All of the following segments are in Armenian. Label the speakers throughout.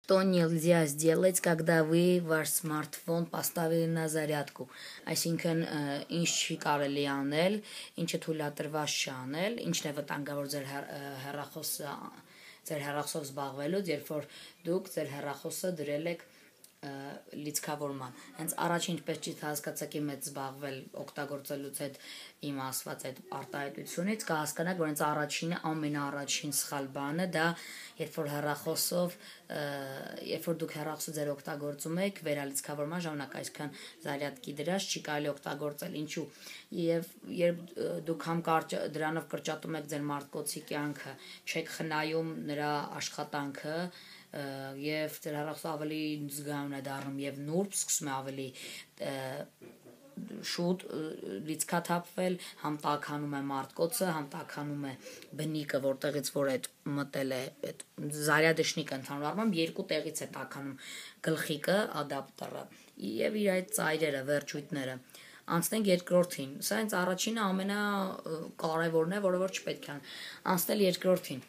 Speaker 1: Что нельзя сделать, когда вы ваш смартфон поставили на зарядку? Այսինքն ինչ չի կարելի անել, ինչը թույլատրված չի անել, ինչն է վտանգավոր ձեր հեռախոսով զբաղվելուց, երբ որ դուք ձեր հեռախոսը դրել եք լիցքավորման։ Հենց առաջին ինչպես չի հասկացաք իմ հետ զբաղվել օգտագործելուց այդ իմ ասված այդ արտահայտությունից, կհասկանաք, որ հենց առաջինը ամենաառաջին սխալ բանը դա երբ որ հեռախոսով երբ որ դուք հեռախոսը ձեր օգտագործում եք վերալիցքավորման ժամանակ, այսքան զարյատկի դրած չի կարելի օգտագործել, ինչու եւ երբ դուք համ դրանով կրճատում եք ձեր մարդկոցի կյանքը, չեք խնայում նրա աշխատանքը եւ ձեր հեռախոսը ավելի զգայուն է դառնում եւ նուրբ սկսում է ավելի շուտ լիցքաթափվել, համ տաքանում է մարդկոցը, համ տաքանում է բնիկը, որտեղից որ այդ մտել է այդ զարյադշնիկը ընդհանուր առմամբ երկու տեղից է տաքանում գլխիկը, ադապտերը եւ իր այդ ծայրերը, վերջույթները։ Անցնենք երկրորդին։ Սա հենց առաջինը ամենակարևորն է, որը որ չպետք է անցնել երկրորդին։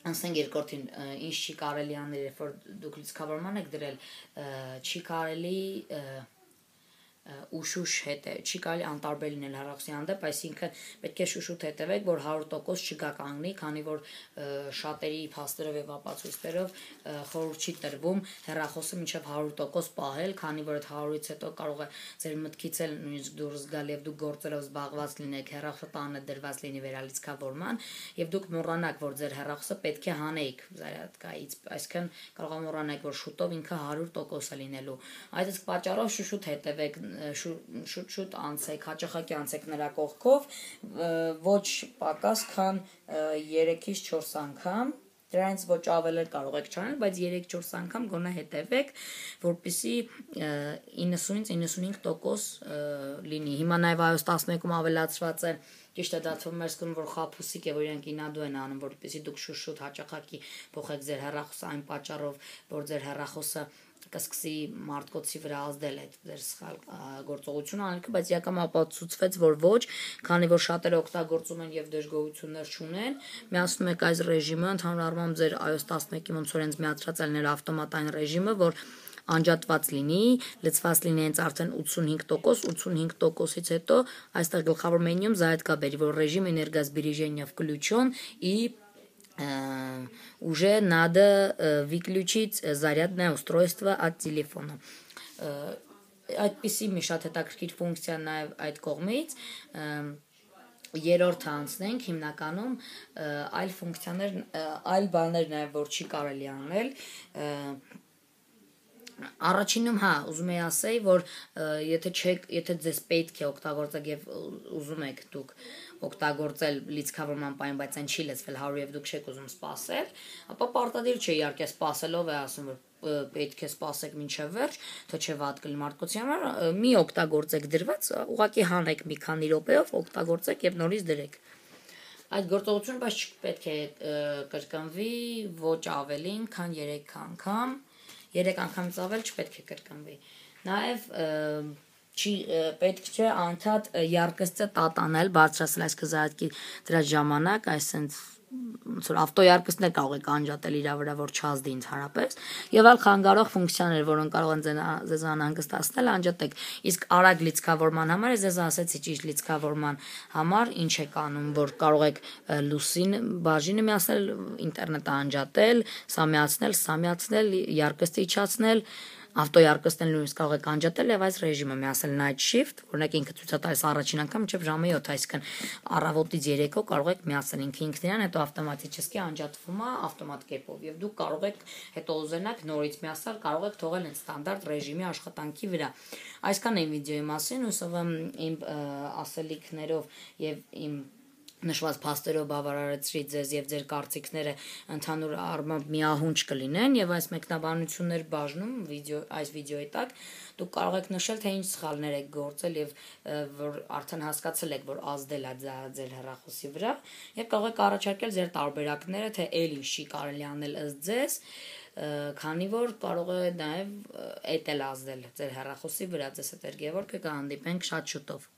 Speaker 1: Անցնենք երկրորդին, ինչ չի կարելի անել, երբ որ դուք լիցքավորման եք դրել, չի կարելի ուշուշ չի կարելի անտարբեր լինել հեռախոսի հանդեպ, այսինքն պետք է շուշուտ հետևեք, որ 100% չգականգնի, քանի որ շատերի փաստերով եւ ապացույցներով խորհուրդ չի տրվում հեռախոսը մինչեւ 100% պահել, քանի որ այդ 100-ից հետո կարող է ձեր մտքից էլ նույնիսկ դուրս գալ եւ դուք գործերով զբաղված լինեք, հեռախոսը տանը դրված լինի վերալիցքավորման եւ դուք մոռանաք, որ ձեր հեռախոսը պետք է հանեիք զարյատկայից, այսինքն կարող է մոռանաք, որ շուտով ինքը 100% է լինելու։ Այդ պատճառով շուշուտ հետևեք, շուտ անցեք, հաճախակի անցեք նրա կողքով, ոչ պակաս, քան 3-ից 4 անգամ, դրանից ոչ ավել կարող եք չանել, բայց 3-4 անգամ գոնե հետևեք, որպեսզի 90-ից 95% լինի։ Հիմա նաև iOS 11-ում ավելացված է, ճիշտ է դա թվում է սկսում, որ խաբուսիկ է, որ իրենք ինադու են անում, որպեսզի դուք շուտ հաճախակի փոխեք ձեր հեռախոսը այն պատճառով, որ ձեր հեռախոսը կսկսի մարդկոցի վրա ազդել այդ ձեր սխալ գործողությունը անելքը, բայց իրականում ապացուցվեց, որ ոչ, քանի որ շատերը օգտագործում են եւ դժգոհություններ չունեն, միացնում եք այս ռեժիմը, ընդհանուր առմամբ ձեր iOS 11-ի ոնց որ հենց միացրած ելներ ավտոմատային ռեժիմը, որ անջատված լինի, լցված լինի հենց արդեն 85%, 85%-ից հետո այստեղ գլխավոր մենյուում зарядка бери, որ ռեժիմ энергосбережения включен и уже надо выключить зарядное устройство от телефона. Այդպիսի մի շատ հետաքրքիր ֆունկցիա նաև այդ կողմից երրորդը անցնենք հիմնականում այլ ֆունկցիաներ, այլ բաներ նաև որ չի կարելի անել Առաջինում ուզում եի ասեի, որ եթե ձեզ պետք է օգտագործեք եւ ուզում եք դուք օգտագործել լիցքավորման պայն, բայց այն չի լցվել 100 եւ դուք չեք ուզում սպասել, ապա պարտադիր չէ իհարկե սպասելով է ասում, որ պետք է սպասեք մինչև վերջ, թե չէ վատ կլինի մարդկության համար, մի օգտագործեք դրված, ուղղակի հանեք մի քանի րոպեով, օգտագործեք եւ նորից դրեք։ Այդ գործողությունը բայց չպետք է կրկնվի ոչ ավելին, քան 3 անգամ 3 անգամից ավել չպետք է կրկնվի։ Նաև պետք չէ անդադ яркостը տատանել, բարձրացնել այս կզարյատկի դրա ժամանակ, այսինքն ոնց որ ավտոյարկստներ կարող եք անջատել իր վրա, որ չազդի ընդհանրապես, եւ այլ խանգարող ֆունկցիաներ, որոնք կարող են ձեզ անհանգստացնել, անջատեք։ Իսկ արագ լիցքավորման համար ես ձեզ ասեցի ճիշտ լիցքավորման համար ինչ եք անում, որ կարող եք լուսին բաժինը միացնել, ինտերնետը անջատել, սա միացնել, яркостը իջացնել, ավտոյարկստն նույնիսկ կարող եք անջատել եւ այս ռեժիմը միացնել night shift, օրինակ ինքը ցույց է տալիս առաջին անգամ մինչեւ ժամը 7, այսինքն առավոտից 3-ով կարող եք միացնել ինքն իրան, հետո ավտոմատически անջատվում է ավտոմատ կերպով եւ դուք կարող եք հետո ուզենաք նորից միացնել, կարող եք թողել այն ստանդարտ ռեժիմի աշխատանքի վրա։ Այսքան է վիդեոյի մասին, հուսով եմ իմ ասելիքներով եւ իմ նշված փաստերով բավարարեցրի ձեզ եւ ձեր կարծիքները ընդհանուր առմամբ միահունչ կլինեն եւ այս մեկնաբանություններ բաժնում այս վիդեոյի տակ դուք կարող եք նշել թե ինչ սխալներ եք գործել եւ որ արդեն հասկացել եք որ ազդել է ձեր հեռախոսի վրա եւ կարող եք առաջարկել ձեր տարբերակները թե այլ ինչ չի կարելի անել ըստ ձեզ քանի որ կարող է նաեւ էդ էլ ազդել ձեր հեռախոսի վրա ձեզ հետ Գևորգը կհանդիպենք շատ շուտով